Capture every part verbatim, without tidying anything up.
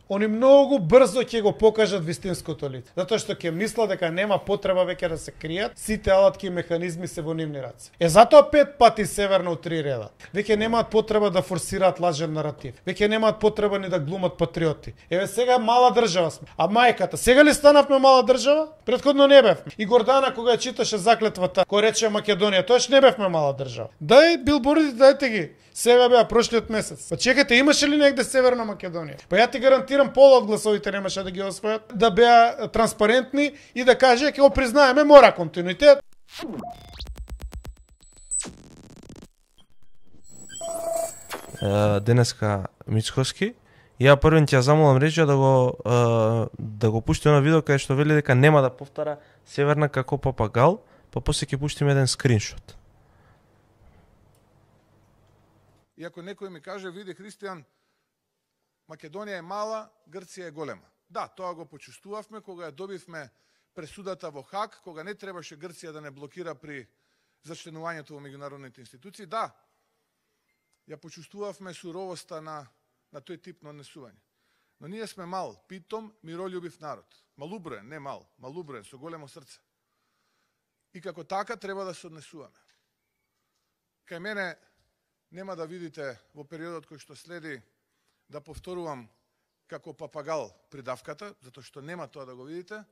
они многу брзо ќе го покажат вистинското лице. Затоа што ќе мислат дека нема потреба веќе да се кријат, сите алатки и механизми се во нивни раце. Е затоа пет пати северно у три реда. Веќе немаат потреба да форсираат лажен наратив. Веќе немаат потреба ни да глумат патриоти. Еве сега мала држава сме. А мајката, сега ли станавме мала држава? Претходно не бевме. И Гордана кога ја читаше заклетвата, која рече Македонија, тоаш не бевме мала држава. Дај билбордите, дајте ги. Сега беа прошлиот месец. Па чекате, имаше ли негде Северна Македонија? Па ја ти гарантирам пола од гласовите немаше да ги освојат, да беа транспарентни и да каже ќе го признаеме, мора континуитет. Денеска Мицкоски, ја првен ќе ја замолам Реджија да го да го пушти на видео кај што вели дека нема да повтара Северна како папагал, па после ќе пуштиме еден скриншот. И ако некој ми каже, види Христијан, Македонија е мала, Грција е голема. Да, тоа го почувствувавме кога ја добивме пресудата во Хаг, кога не требаше Грција да не блокира при зачленувањето во меѓународните институции. Да, ја почувствувавме суровоста на, на тој тип на однесување. Но ние сме мал, питом, миролюбив народ. Малуброен, не мал, малуброен, со големо срце. И како така треба да се однесуваме. Кај мене нема да видите во периодот кој што следи да повторувам како папагал придавката, затоа што нема тоа да го видите.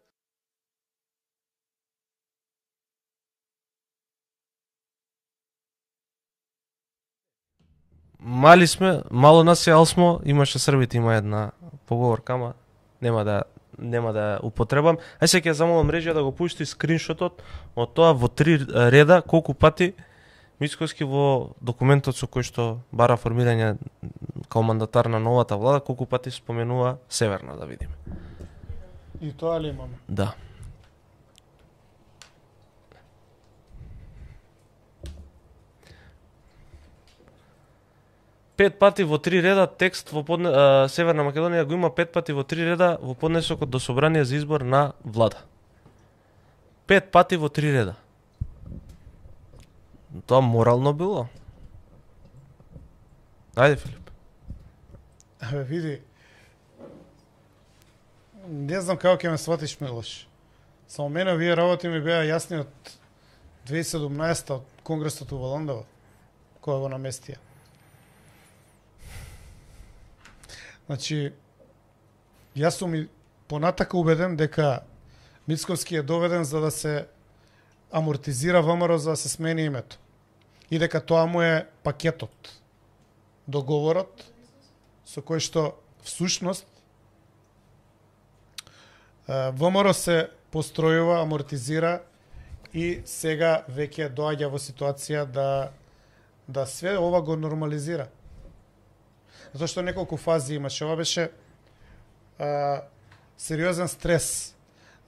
Мали сме, мало нас е, ал смо, имаше србите, има една поговорка, ама нема да нема да употребам. Ај се ќе замолам Реджија да го пушти скриншотот од тоа во три реда колку пати Мицкоски во документот со кој што бара формирање као мандатар на новата влада, колку пати споменува Северна, да видиме. И тоа ли имаме? Да. Пет пати во три реда текст во подне... а, Северна Македонија го има пет пати во три реда во поднесокот до собрание за избор на влада. Пет пати во три реда. Тоа морално било. Ајде, Филип. Абе, види. Не знам како ќе ме сватиш, Милош. Само мене овие работи ми беа јасни од две илјади и седумнаесета од Конгресот во Ландова, која го наместија. Значи, јас сум и понатака убеден дека Мицкоски е доведен за да се амортизира ВМРО, за да се смени името. И дека тоа му е пакетот, договорот, со кој што всушност ВМРО се постројува, амортизира и сега веќе доаѓа во ситуација да да све ова го нормализира. Затоа што неколку фази имаше. Ова беше а, сериозен стрес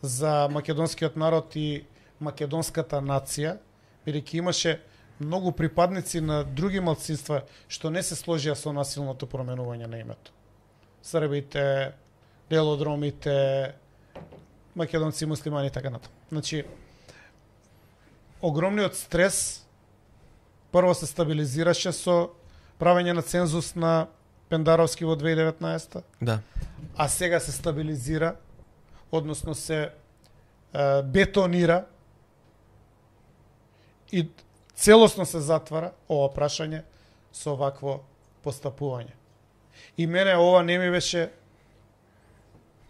за македонскиот народ и македонската нација, бидејќи имаше многу припадници на други малцинства што не се сложија со насилното променување на името. Србите, делодромите, македонци, муслимани и така натаму. Значи, огромниот стрес прво се стабилизираше со правење на цензус на Пендаровски во две илјади и деветнаесета. Да. А сега се стабилизира, односно се е, бетонира и целосно се затвара ова прашање со вакво постапување. И мене ова не ми беше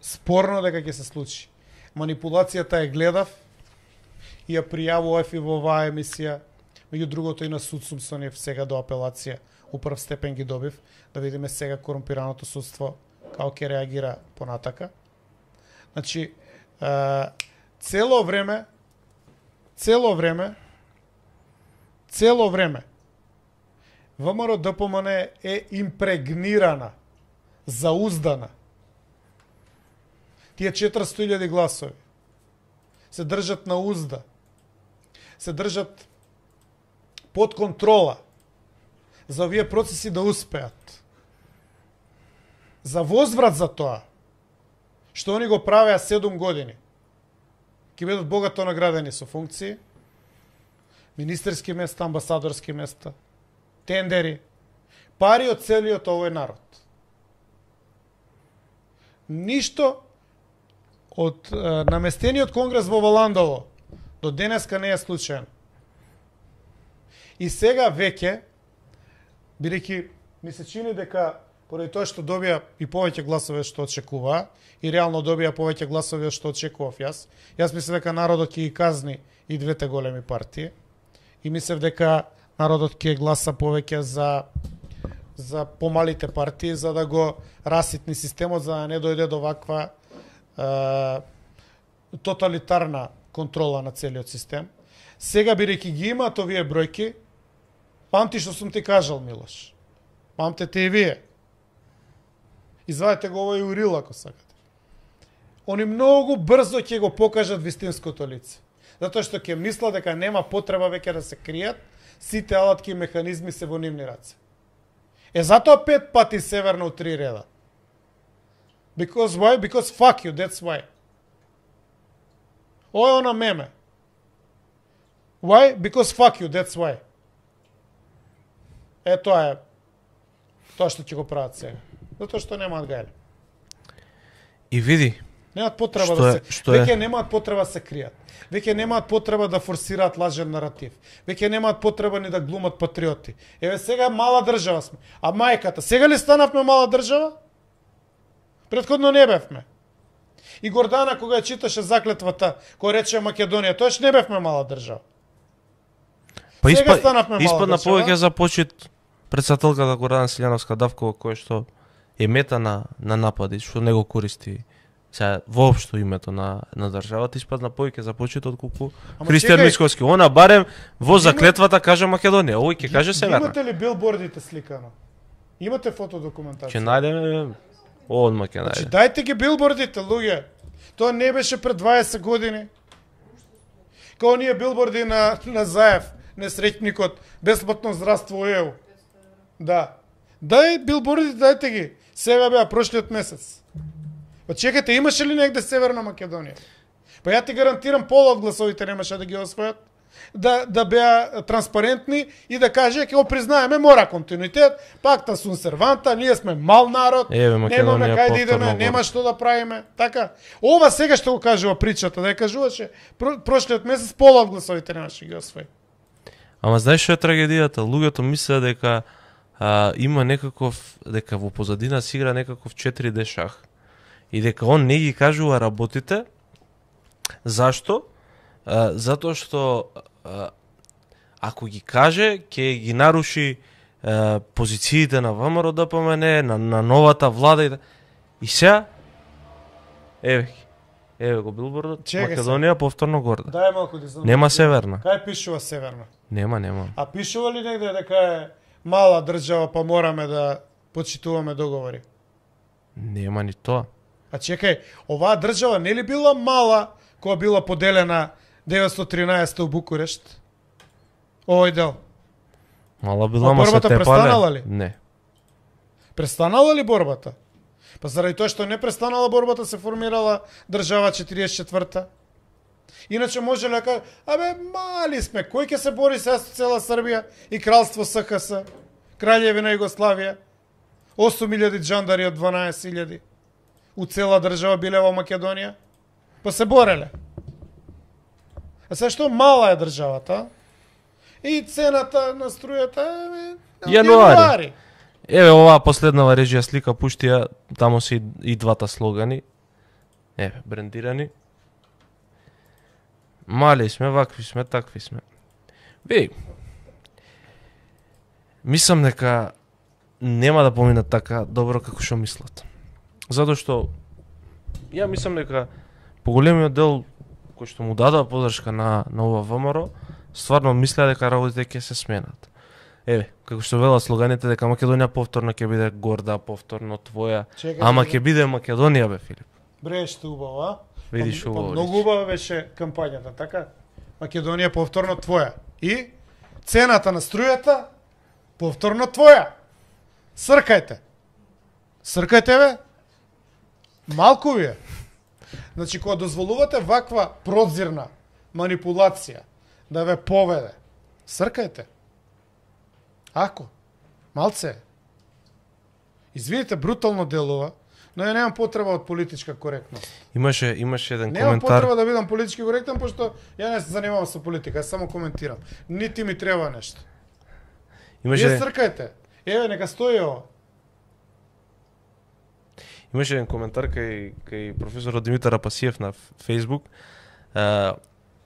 спорно дека ќе се случи. Манипулацијата ја гледав и ја пријавував и во оваа емисија. Меѓу другото и на суд сум со нив сега до апелација. У прв степен ги добив, да видиме сега корумпираното судство како ќе реагира понатака. Значи, е, цело време, цело време, цело време, ВМРО-ДПМН е импрегнирана, зауздана. Тие четиристотини илјади гласови се држат на узда, се држат под контрола, за овие процеси да успеат. За возврат за тоа, што они го правеа седум години, ќе бидат богато наградени со функции, министерски места, амбасадорски места, тендери, пари од целиот овој народ. ништо од е, наместениот конгрес во Валандово до денеска не е случаен. И сега веќе, бидејќи ми се чини дека поради тоа што добија и повеќе гласови што очекува, и реално добија повеќе гласови што очекував јас, јас мислев дека народот ќе ги казни и двете големи партии, и мислев дека народот ќе гласа повеќе за за помалите партии, за да го раситни системот, за да не дојде до ваква е, тоталитарна контрола на целиот систем. Сега, бидејќи ги имаат овие бројки, памти што сум ти кажал, Милош. Памтете и вие. Извадете го овој урил, ако сакате. Они многу брзо ќе го покажат вистинското лице. Затоа што ќе мисла дека нема потреба веќе да се кријат, сите алатки и механизми се во нивни раце. Е, затоа пет пати северно у три реда. Because why? Because fuck you, that's why. Ова е она меме. Why? Because fuck you, that's why. Е, тоа е тоа што ќе го прават сега. Затоа што немаат гајле. И види. Немаат потреба што да е, се... што Веќе е? немаат потреба да се кријат. Веќе немаат потреба да форсираат лажен наратив. Веќе немаат потреба ни да глумат патриоти. Еве сега мала држава сме. А мајката, сега ли станавме мала држава? Претходно не бевме. И Гордана кога ја читаше заклетвата, која рече Македонија, тоаш не бевме мала држава. Па Сега испа, станавме мала испадна држава. повеќе за почит претседателката Гордана Силјановска Давкова, која што е мета на, на напади, што не го користи сега воопшто името на, на државата, испадна повеќе за почит отколку Ама Христијан чекај, Мицкоски. Она барем во Има- заклетвата каже Македонија, овој ќе каже Северна. Имате ли билбордите сликано? Имате фотодокументација? Ќе најдеме одма ќе Значи, најдеме. дајте ги билбордите, луѓе. Тоа не беше пред дваесет години. Као оние билборди на, на Заев, несреќникот, бесплатно здравство ЕУ. Да. Дај билбордите, дајте ги. Сега беа прошлиот месец. Па чекате, имаше ли негде Северна Македонија? Па ја ти гарантирам пола од гласовите немаше да ги освојат. Да, да беа транспарентни и да каже, ќе го признаеме, мора континуитет, пакта сун серванта, ние сме мал народ, Еве, немаме Македонија кај да идеме, повторно нема го- што да правиме, така. Ова сега што го кажува причата, да ја кажуваше, про, прошлиот месец пола од гласовите немаше ги освои. Ама знаеш што е трагедијата? Луѓето мислеа дека а, има некаков, дека во позадина се игра некаков четири де шах. И дека он не ги кажува работите. Зашто? А, затоа што а, ако ги каже, ќе ги наруши а, позициите на ВМРО Д П М Н, на, на новата влада и, и сега еве ги. Еве го билбордот, Чекај се. Македонија повторно горда. Дај малку да знам. Нема Северна. Кај пишува Северна? Нема, нема. А пишува ли негде дека е мала држава, па мораме да почитуваме договори? Нема ни тоа. А чекај, оваа држава не ли била мала кога била поделена деветстотини и тринаесетте у Букурешт? Овој дел. Мала била, А ма се борбата тепале. престанала ли? Не. Престанала ли борбата? Па заради тоа што не престанала борбата се формирала држава четириесет и четврта. Иначе може ли да кажа, абе мали сме, кој ќе се бори сега со цела Србија и кралство С Х С, краљевина Југославија, осум илјади джандари од дванаесет илјади. У цела држава биле во Македонија, па се бореле. А сега што мала е државата, и цената на струјата е Јануари. Еве оваа последнава режија слика пушти ја, таму се и, и двата слогани. Еве, брендирани. Мали сме, вакви сме, такви сме. Ви, мислам дека нема да поминат така добро како што мислат. Затоа што ја мислам дека поголемиот дел кој што му дадува подршка на, на ова ВМРО, стварно мислеа дека работите ќе се сменат. Еве, како што велат слоганите дека Македонија повторно ќе биде горда, повторно твоја, Чекај, ама чекај. ќе биде Македонија бе, Филип. Бреште убаво, а? Видиш Па, убаво. па, многу убава беше кампањата, така? Македонија повторно твоја. И цената на струјата повторно твоја. Сркајте. Сркајте бе. Малку ви е. Значи, кога дозволувате ваква прозирна манипулација да ве поведе, сркајте. Ако, малце е. Извините, брутално делува, Но ја немам потреба од политичка коректност. Имаше имаше еден Немам коментар. потреба да бидам политички коректен, пошто ја не се занимавам со политика, јас само коментирам. Нити ми треба нешто. Имаше Вие цркајте. Еве, нека стои ова. Имаше еден коментар кај кај професорот Димитар Апасиев на Facebook. Uh,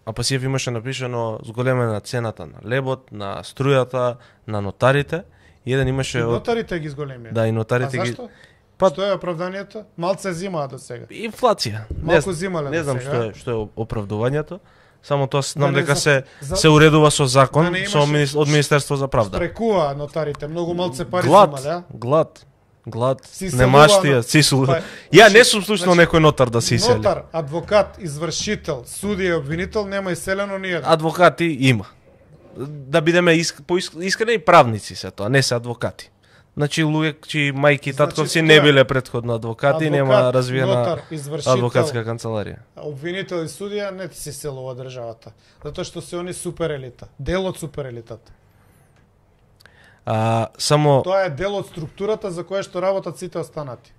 Апасиев имаше напишано зголемена цената на лебот, на струјата, на нотарите. И еден имаше И од... нотарите ги зголемија. Да, и нотарите а ги... зашто? Па- Што е оправданието? Малце зимаа до сега. Инфлација. Малку Не, зимале не до знам сега. што е што е оправдувањето. Само тоа знам Да не дека за- се за- се уредува со закон, да не со имаше- мини- од Министерство за правда. Прекува нотарите, многу малце пари Глад, зимале, а? глад, глад, Си немаштија, селува, сисул. па, Ја значи- не сум слушнал значи, некој нотар да се исели. Нотар, адвокат, извршител, судија и обвинител нема иселено ни еден. Адвокати има. Да бидеме иск, поиск, искрени и правници се тоа, не се адвокати. Значи луѓе чии мајки и татковци Значи, не тоа е биле претходно адвокати, адвокат, нема развиена нотар, извршител, адвокатска канцеларија. обвинител и судија не се селува државата, затоа што се они супер елита, дел од супер елитата. А само Тоа е дел од структурата за која што работат сите останати.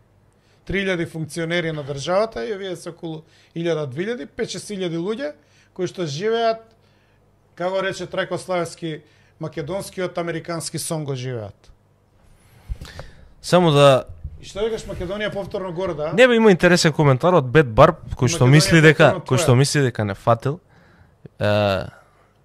три илјади функционери на државата и овие се околу илјада-две илјади, пет-шест илјади луѓе кои што живеат, како рече Трајко Славевски, македонскиот американски сон го живеат. само да И што викаш, Македонија повторно горе, да? не бе има интересен коментар од Бет Барб кој што Македонија мисли дека повторно кој што твоја. мисли дека не фатил. Е,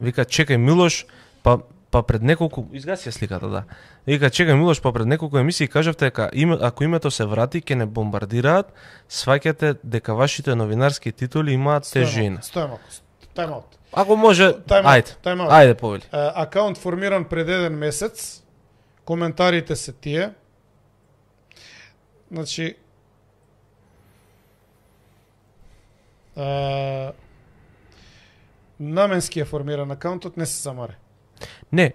вика чекај Милош, па па пред неколку изгаси ја сликата, да. Вика чекај Милош, па пред неколку емисии кажавте дека име, ако името се врати ќе не бомбардираат, сваќате дека вашите новинарски титули имаат тежина. Стој малку, тајм аут. Ако може, Тајм аут, ајде. тајм аут. Ајде повели. Е, акаунт формиран пред еден месец, коментарите се тие. Значи, е, наменски е формиран акаунтот, не се замаре. Не, е,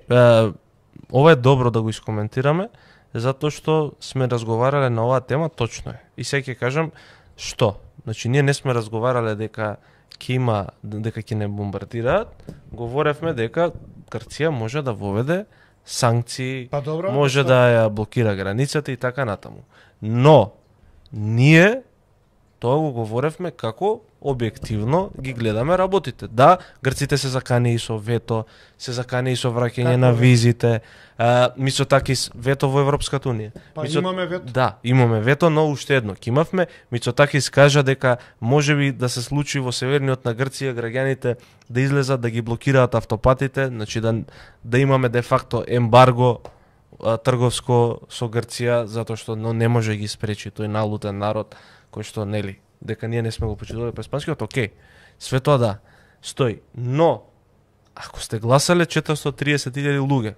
ова е добро да го искоментираме, затоа што сме разговарале на оваа тема, точно е. И сега ќе кажам што. Значи, ние не сме разговарале дека ќе има, дека ќе не бомбардираат, говоревме дека Грција може да воведе санкции, Па добро, може што? да ја блокира границата и така натаму. Но, ние тоа го говоревме како објективно ги гледаме работите. Да, грците се закани и со вето, се закани и со враќање Како на вето? визите, а, Мицотакис вето во Европската унија. Па Мицо- имаме вето. Да, имаме вето, но уште едно ќе имавме. Мицотакис кажа дека можеби да се случи во северниот на Грција граѓаните да излезат да ги блокираат автопатите, значи да да имаме де факто ембарго а, трговско со Грција затоа што но не може да ги спречи тој налутен народ кој што нели дека ние не сме го почитувале през панскиот, окей. Све тоа да стои, но ако сте гласале четиристотини и триесет илјади луѓе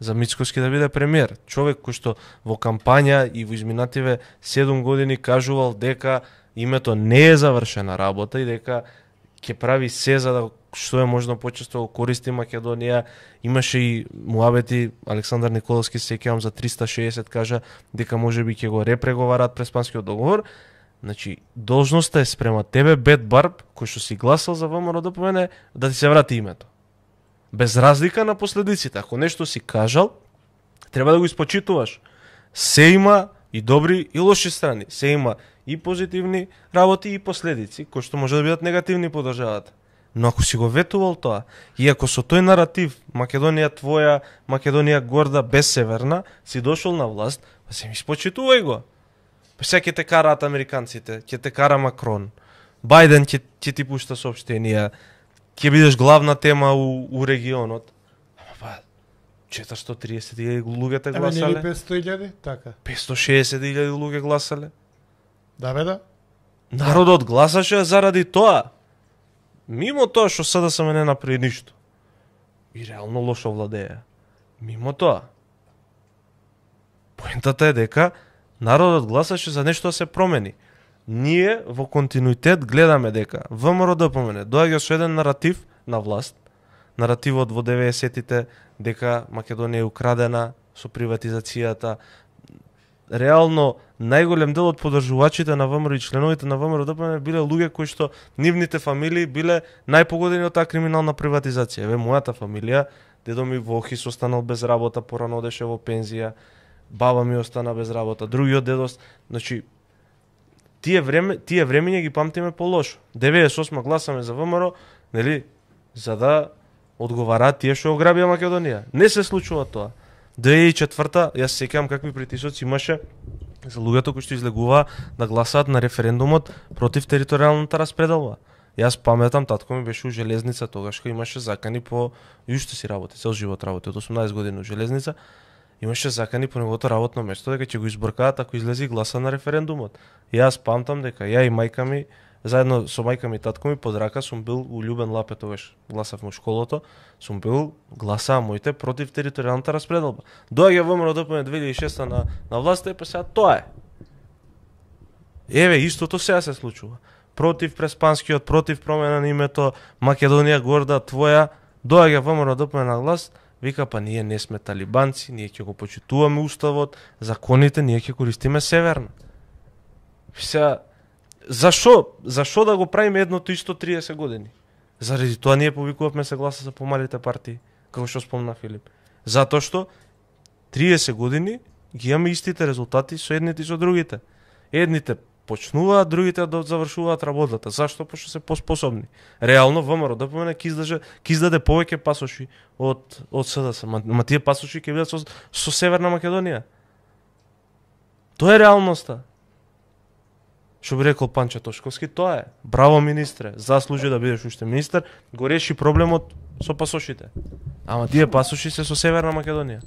за Мицкоски да биде премиер, човек кој што во кампања и во изминативе седум години кажувал дека името не е завршена работа и дека ќе прави се за да што е можно почесто го користи Македонија. Имаше и муабети, Александар Николовски се сеќавам за триста и шеесет кажа дека можеби ќе го репреговарат Преспанскиот договор. Значи, должноста е спрема тебе, Бет Барб, кој што си гласал за ВМРО да помене, да ти се врати името. Без разлика на последиците. Ако нешто си кажал, треба да го испочитуваш. Се има и добри и лоши страни. Се има и позитивни работи и последици, кои што може да бидат негативни по државата. Но ако си го ветувал тоа, и ако со тој наратив Македонија твоја, Македонија горда, без северна, си дошол на власт, па се ми испочитувај го. Па сега ќе те караат американците, ќе те кара Макрон, Бајден ќе, ќе ти пушта соопштенија, ќе бидеш главна тема у, у регионот. Ама па, четиристотини и триесет илјади луѓе те Еме, гласале, нели петстотини илјади? Така. петстотини и шеесет илјади луѓе гласале. Да бе да. Народот гласаше заради тоа. Мимо тоа што СДСМ не направи ништо. И реално лошо владеја. Мимо тоа. Поентата е дека народот гласаше за нешто да се промени. Ние во континуитет гледаме дека ВМРО да помене доаѓа со еден наратив на власт, наративот во деветдесетите дека Македонија е украдена со приватизацијата. Реално најголем дел од поддржувачите на ВМРО и членовите на ВМРО да помене биле луѓе кои што нивните фамилии биле најпогодени од таа криминална приватизација. Еве мојата фамилија, дедо ми во Охрис останал без работа, порано одеше во пензија, баба ми остана без работа, другиот дедо, значи тие време, тие времења ги памтиме полошо. деветдесет и осма гласаме за ВМРО, нели, за да одговараат тие што ограбија Македонија. Не се случува тоа. две илјади и четврта, јас се сеќавам какви притисоци имаше за луѓето кои што излегуваа да гласаат на референдумот против територијалната распределба. Јас паметам, татко ми беше у железница тогаш кога имаше закани по јуште си работи, цел живот работи, од осумнаесет години у железница, имаше закани по неговото работно место дека ќе го избркаат ако излезе и гласа на референдумот. И јас памтам дека ја и мајка ми заедно со мајка ми и татко ми под рака сум бил у Љубен Лапе тогаш, гласавме у школото, сум бил гласаа моите против територијалната распределба. Доаѓа ВМРО ДПМН две илјади и шеста на на власта и па сега тоа е. Еве истото сега се случува. Против Преспанскиот, против промена на името, Македонија горда твоја, доаѓа ВМРО ДПМН на власт, вика па ние не сме талибанци, ние ќе го почитуваме уставот, законите, ние ќе користиме северна. Сега зашо, зашо да го правиме едното исто триесет години? Заради тоа ние повикувавме се гласа за помалите партии, како што спомна Филип. Затоа што триесет години ги имаме истите резултати со едните и со другите. Едните почнуваат, другите да завршуваат работата. Зашто? Пошто се поспособни. Реално ВМРО ДПМН ќе издаде ќе издаде повеќе пасоши од од СДС, ма, ма тие пасоши ќе бидат со, со Северна Македонија. Тоа е реалноста. Што би рекол Панче Тошковски, тоа е. Браво министре, заслужи да бидеш уште министер, го реши проблемот со пасошите. Ама тие пасоши се со Северна Македонија.